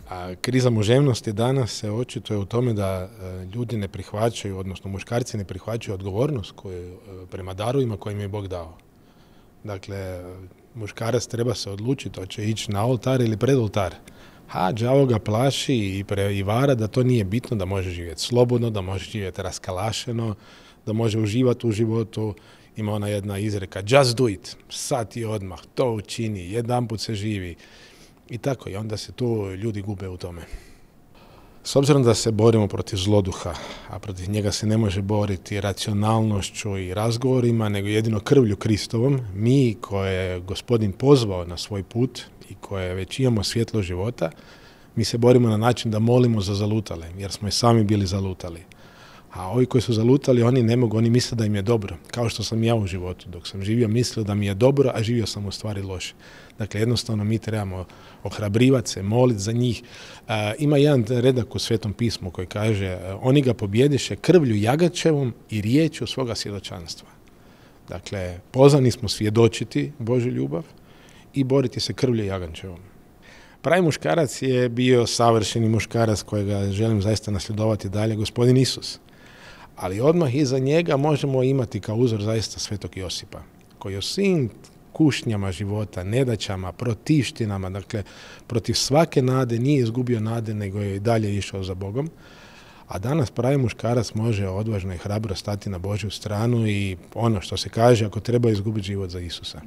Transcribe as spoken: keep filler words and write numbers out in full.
A kriza muževnosti danas se očituje u tome da ljudi ne prihvaćaju, odnosno muškarci ne prihvaćaju odgovornost koju, prema darovima koje im je Bog dao. Dakle, muškarac treba se odlučiti hoće ići na oltar ili pred oltar. A đavo ga plaši i, pre, i vara da to nije bitno, da može živjeti slobodno, da može živjeti raskalašeno, da može uživati u životu. Ima ona jedna izreka, just do it, sad i odmah, to učini, jedanput se živi. I tako, i onda se tu ljudi gube u tome. S obzirom da se borimo protiv zloduha, a protiv njega se ne može boriti racionalnošću i razgovorima, nego jedino krvlju Kristovom, mi koje je Gospodin pozvao na svoj put i koje već imamo svjetlo života, mi se borimo na način da molimo za zalutale, jer smo i sami bili zalutali. A ovi koji su zalutali, oni ne mogu, oni misle da im je dobro, kao što sam ja u životu. Dok sam živio, mislio da mi je dobro, a živio sam u stvari loše. Dakle, jednostavno mi trebamo ohrabrivati se, moliti za njih. E, ima jedan redak u Svetom pismu koji kaže, oni ga pobjediše krvlju jagačevom i riječju svoga svjedočanstva. Dakle, pozvani smo svjedočiti Božju ljubav i boriti se krvlju jagačevom. Pravi muškarac je bio savršeni muškarac kojega želim zaista nasljedovati dalje, Gospodin Isus. Ali odmah iza njega možemo imati kao uzor zaista Svetog Josipa, koji je svim kušnjama života, nedaćama, protivštinama, dakle protiv svake nade nije izgubio nade, nego je i dalje išao za Bogom. A danas pravi muškarac može odvažno i hrabro stati na Božju stranu i ono što se kaže, ako treba izgubiti život za Isusa.